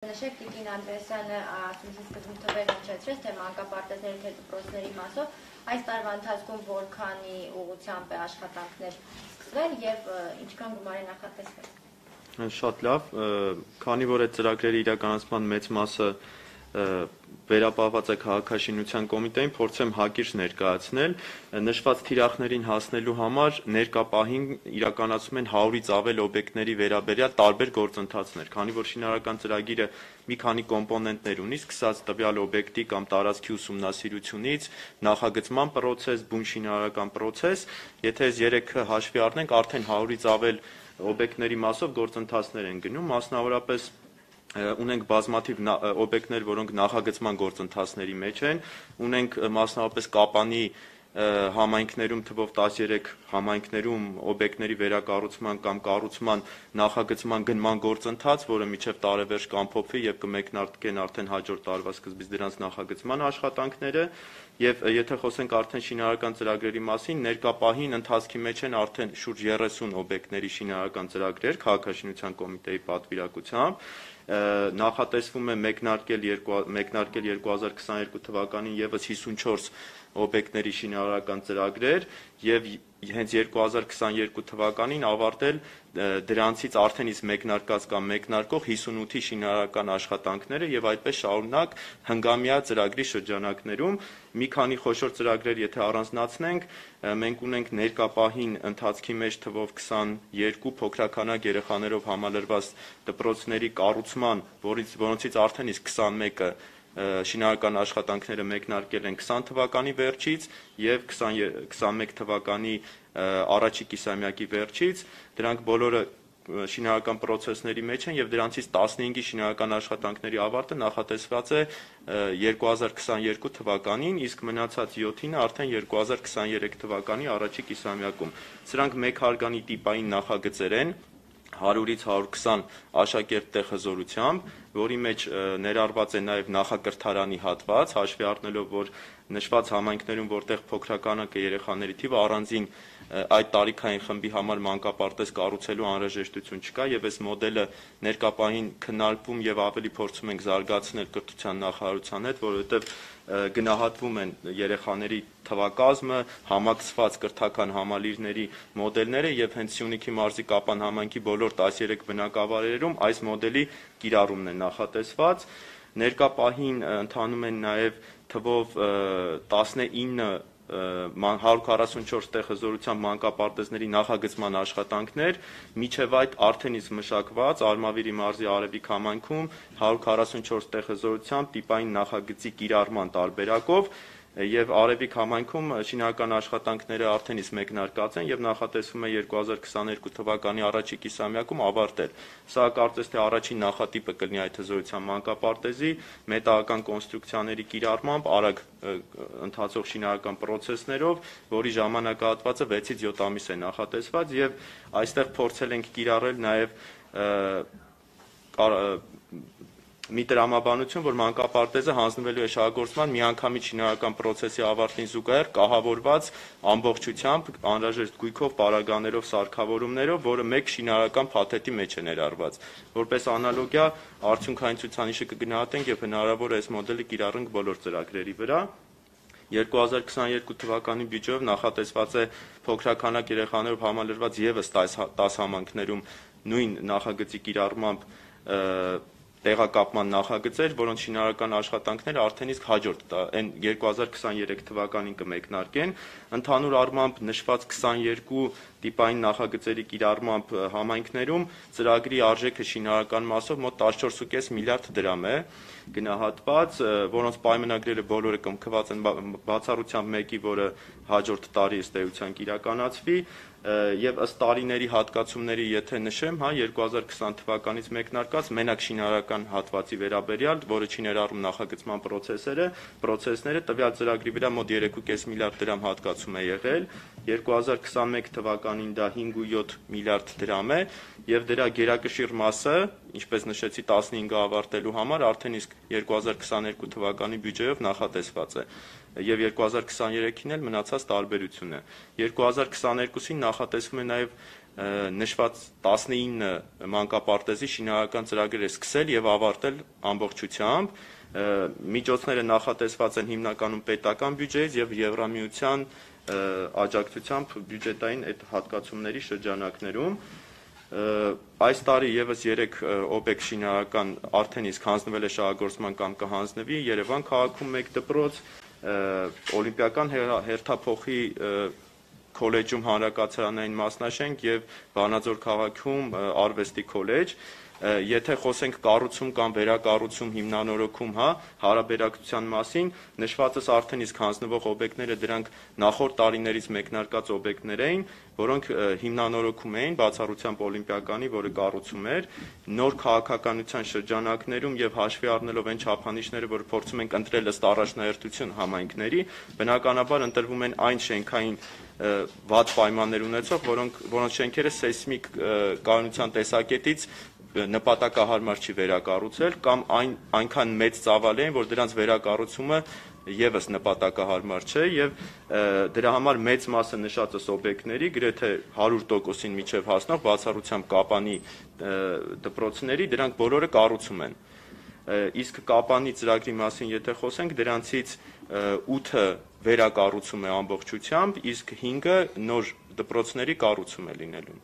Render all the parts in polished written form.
Նշեք Տիկին Անդրեասյանը ասում սկզբում թվեր հնչեցրեց, թե մանկապարտեզների թե դպրոցների մասով այս տարվա ընթացքում որքանի ուղղությամբ է աշխատանքներ սկսվել եւ ինչքան գումար է նախատեսվել։ Շատ լավ, քանի որ այդ ծրագրերի իրականացման մեծ մասը վերապահված է քաղաքաշինության կոմիտեին, փորձեմ հակիրճ ներկայացնել, նշված թիրախներին հասնելու համար ներկա պահին իրականացում են 100-ից ավել օբյեկտների վերաբերյալ տարբեր գործընթացներ, քանի որ շինարարական ծրագիրը մի քանի կոմպոնենտներ ունի, սկսած տվյալ օբյեկտի կամ տարածքի ուսումնասիրությունից, նախագծման պրոցես, բուն շինարարական պրոցես, եթե այս երեքը հաշվի առնենք, արդեն 100-ից ավել օբյեկտների մասով գործընթացներ են գնում, մասնավորապես ունենք բազմաթիվ օբյեկտներ, որոնք նախագծման գործընթացների մեջ են, ունենք մասնավորապես Կապանի համայնքներում թվով 13 համայնքներում օբյեկտների վերակառուցման կամ կառուցման նախագծման գնման գործընթաց, որը մինչև տարեվերջ կամփոփվի եւ կմեկնարկեն արդեն հաջորդ տարվա սկզբից դրանց նախագծման աշխատանքները եւ եթե խոսենք արդեն շինարարական ծրագրերի մասին, ներկա պահին ընթացքի մեջ են արդեն շուրջ 30 օբյեկտների շինարարական ծրագրեր քաղաքաշինության կոմիտեի պատվիրակությամբ նախատեսվում է մեկնարկել 2022 թվականին եւս 54 օբյեկտների շինարարական ծրագրեր եւ հենց 2022 թվականին ավարտել դրանցից արդեն իսկ մեկնարկած կամ մեկնարկող 58-ի շինարարական աշխատանքները եւ այդպես շարունակ հնգամյա ծրագրի շրջանակներում մի քանի խոշոր ծրագրեր եթե առանձնացնենք մենք ունենք ներկա պահին ընթացքի մեջ թվով 22 փոքրականակ երեխաներով համալրված դպրոցների կառուցման, որոնցից արդեն իսկ 21-ը շինարարական աշխատանքները մեկնարկել են 20 թվականի վերջից եւ 21 թվականի առաջի կիսամյակի վերջից, դրանք բոլորը շինարարական պրոցեսների մեջ են եւ դրանցից 15-ի շինարարական աշխատանքների ավարտը նախատեսված է 2022 թվականին, իսկ մնացած 7-ին արդեն 2023 թվականի առաջի կիսամյակում։ Սրանք մեկ հարգանի տիպային նախագծեր են 100-ից 120 աշակերտի հզորությամբ, որի մեջ ներառված է նաև նախակրթարանի հատված, հաշվի առնելով, որ նշված համայնքներում, որտեղ փոքրականակ է երեխաների թիվը, առանձին այդ տարիքային խմբի համար մանկապարտեզ կառուցելու անհրաժեշտություն չկա եւ այս մոդելը ներկա պահին քննարկվում եւ ավելի փորձում ենք զարգացնել կրթության նախարարության հետ, որովհետեւ գնահատվում են երեխաների թվակազմը, համակցված կրթական համալիրների մոդելները եւ հենց Սյունիքի մարզի Կապան համայնքի բոլոր 13 բնակավայրերում այս մոդելի կիրառումն է նախատեսված։ Ներկա պահին ընթանում են նաեւ թվով 19 144 տեղ հզորությամբ մանկապարտեզների նախագծման աշխատանքներ, միջև այդ արդեն իսկ մշակված Արմավիրի մարզի Արևիկ համայնքում 144 տեղ հզորությամբ տիպային նախագծի կիրառման տարբերակով եւ Արևիկ համայնքում շինարարական աշխատանքները արդեն իսկ մեկնարկած են եւ նախատեսվում է 2022 թվականի առաջի կիսամյակում ավարտել։ Սա կարծես թե առաջին նախատիպը կլինի այդ հզորության մանկապարտեզի մետաղական կոնստրուկցիաների կիրառմամբ արագ ընթացող շինարարական պրոցեսներով, որի ժամանակահատվածը 6-ից 7 ամիս է նախատեսված եւ այստեղ փորձել ենք կիրառել նաեւ մի տրամաբանություն, որ մանկապարտեզը հանձնվելու է շահագործման միանգամից շինարարական պրոցեսի ավարտին զուգահեռ կահավորված ամբողջությամբ անհրաժեշտ գույքով, պարագաներով, սարքավորումներով, որը մեկ շինարարական փաթեթի մեջ է ներառված։ Որպես անալոգիա արդյունքային ցուցանիշը կգնահատենք եւ հնարավոր է այս մոդելը կիրառենք բոլոր ծրագրերի վրա։ 2022 թվականի բյուջեով նախատեսված է փոքրականակ երեխաներով համալրված եւս 10 համայնքներում նույն նախագծի կիրառմամբ տեղակապման նախագծեր, որոնց շինարարական աշխատանքները արդեն իսկ հաջորդ այն 2023 թվականին կմեկնարկեն, ընդհանուր առմամբ նշված 22 տիպային նախագծերի կիրառմամբ համայնքներում ծրագրի արժեքը շինարարական մասով մոտ 14.5 միլիարդ դրամ է գնահատված, որոնց պայմանագրերը բոլորը կնքված են բացառությամբ մեկի, որը հաջորդ տարի ըստ էության կիրականացվի եւ ըստ տարիների հատկացումների եթե նշեմ, 2020 թվականից մեկնարկած մենակ շինարարական հատվածի վերաբերյալ, որը չի ներառում նախագծման պրոցեսները, տվյալ ծրագրի վրա մոտ 3.5 միլիարդ դրամ հատկացում է եղել, 2021 թվականին դա 5.7 միլիարդ դրամ է եւ դրա գերակշիռ մասը, ինչպես նշեցի 15-ը ավարտելու համար արդեն իսկ 2022 թվականի բյուջեով նախատեսված է եւ 2023-ին էլ մնացած տարբերություն է։ 2022-ին նախատեսվում է նաեւ նշված 19 մանկապարտեզի շինարարական ծրագրեր է սկսել եւ ավարտել ամբողջությամբ։ Միջոցները նախատեսված են հիմնականում պետական բյուջեից եւ Եվրամիության աջակցությամբ բյուջետային այդ հատկացումների շրջանակներում։ Այս տարի եւս 3 օբյեկտ շինարարական արդեն իսկ հանձնվել է շահագործման կամ կհանձնվի Երևան քաղաքում 1 դպրոց, Օլիմպիական հերթափոխի քոլեջում հանրակացարանային մասնաշենք եւ Վանաձոր քաղաքում արվեստի քոլեջ։ Եթե խոսենք կառուցում կամ վերակառուցում հիմնանորոգում, հարաբերակցության մասին, նշվածս արդեն իսկ հանձնվող օբյեկտները դրանք նախորդ տարիներից մեկնարկած օբյեկտներ էին, որոնք հիմնանորոգում էին բացառությամբ Օլիմպիականի, որը կառուցում էր, նոր քաղաքականության շրջանակներում եւ հաշվի առնելով այն չափանիշները, որ փորձում ենք ընտրել ըստ առաջնահերթություն համայնքների, բնականաբար ընտրվում են այն շենքային վատ պայմաններ ունեցող, որոնց շենքերը սեյսմիկ կայունության տեսակետից նպատակահարմար չի վերակառուցել կամ այնքան մեծ ծավալ են, որ դրանց վերակառուցումը եւս նպատակահարմար չէ եւ դրա համար մեծ մասը նշածս օբյեկտների գրեթե 100%-ին միջև հասնող բացառությամբ Կապանի դպրոցների դրանք բոլորը կառուցում են։ Իսկ Կապանի ծրագրի մասին եթե խոսենք, դրանցից 8-ը վերակառուցում է ամբողջությամբ, իսկ 5-ը նոր դպրոցների կառուցում է լինելու։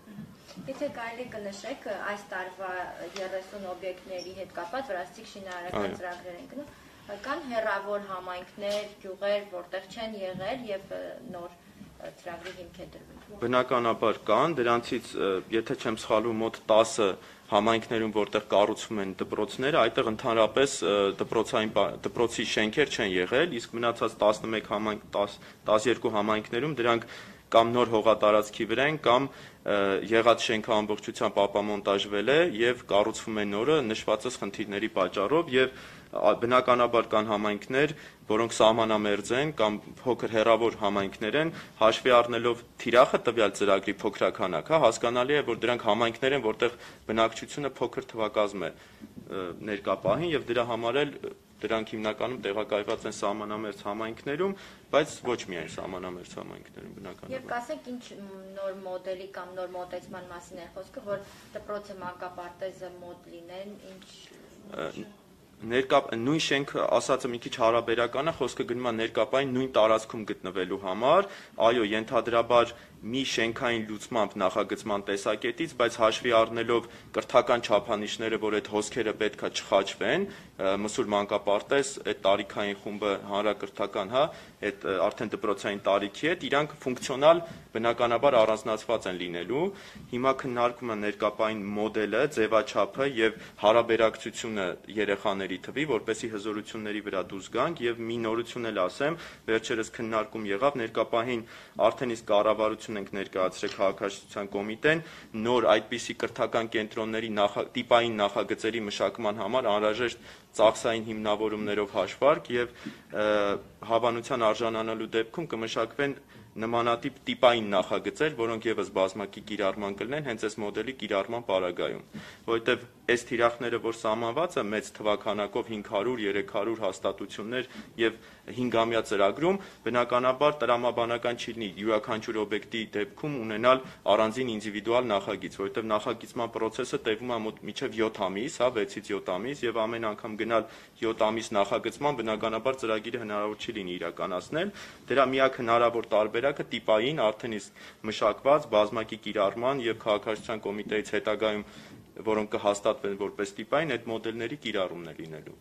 Եթե կարելի կնշեք այս տարվա 30 օբյեկտների հետ կապված վրացիք շինարարական ծրագրեր են գնում, կան հեռավոր համայնքներ, գյուղեր, որտեղ չեն եղել եւ նոր ծրագրի հիմք է դրվել։ Բնականաբար կան, դրանցից եթե չեմ սխալվում մոտ 10 համայնքներում, որտեղ կառուցվում են դպրոցները, այդտեղ ընդհանրապես դպրոցի շենքեր չեն եղել, իսկ մնացած 12 համայնքներում դրանք կամ նոր հողատարածքի վրա են, կամ եղած շենքը ամբողջությամբ ապամոնտաժվել է եւ կառուցվում է նորը նշվածս խնդիրների պատճառով եւ բնականաբար կան համայնքներ, որոնք սահմանամերձ են կամ փոքր հեռավոր համայնքներ են, հաշվի առնելով թիրախը տվյալ ծրագրի փոքրաքանակ, հասկանալի է, որ դրանք համայնքներ են, որտեղ բնակչությունը փոքր թվակազմ է ներկա պահին եւ դրա համար էլ դրանք հիմնականում տեղակայված են սահմանամերձ համայնքներում, բայց ոչ միայն սահմանամերձ համայնքներում բնականաբար։ Եվ կասեք ինչ նոր մոդելի կամ նոր մոտեցման մասին է խոսքը, որ դպրոցը մանկապարտեզը մոդ լինեն, ինչ նույն շենքը ասածը մի քիչ հարաբերական է, խոսքը գնում է ներկապային նույն տարածքում գտնվելու համար, այո, ենթադրաբար մի շենքային լուծմամբ նախագծման տեսակետից, բայց հաշվի առնելով կրթական չափանիշները, որ այդ հոսքերը պետքա չխաչվեն, մսուր մանկապարտեզ, այդ տարիքային խումբը հանրակրթական, այդ արդեն դպրոցային տարիքի հետ, իրանք ֆունկցիոնալ բնականաբար առանձնացված են լինելու։ Հիմա քննարկում է ներկապային մոդելը, ձևաչափը եւ հարաբերակցությունը երեխաների թվի, որպեսզի հզորությունների վրա դուրս գանք եւ մի նորություն էլ ասեմ, վերջերս քննարկում եղավ ներկապային արդեն իսկ կառավարություն ենք ներկայացրել քաղաքաշինության կոմիտեն նոր այդպիսի կրթական կենտրոնների տիպային նախագծերի մշակման համար անհրաժեշտ ծախսային հիմնավորումներով հաշվարկ եւ հավանության արժանանալու դեպքում կմշակվեն նմանատիպ տիպային նախագծեր, որոնք եւս բազմակի կիրառման կլինեն հենց այս մոդելի կիրառման պարագայում, որովհետեւ այս թիրախները, որ սահմանված է մեծ թվականակով 500-300 հաստատություններ եւ 5-ամյա ծրագրում, բնականաբար տրամաբանական չի լինի յուրաքանչյուր օբյեկտի դեպքում ունենալ առանձին ինդիվիդուալ նախագիծ, որովհետեւ նախագծման process-ը տևում է մոտ մինչեւ 7 ամիս, 6-ից 7 ամիս եւ ամեն անգամ գնալ 7 ամիս նախագծման բնականաբար ծրագիրը հնարավոր չի լինի իրականացնել։ Դրա միակ հնարավոր տարբերակը տիպային արդեն իսկ մշակված բազմակի կիրառման եւ քաղաքաշինության կոմիտեից հետագայում որոնք կհաստատվեն որպես տիպային այդ մոդելների կիրառումն է լինելու։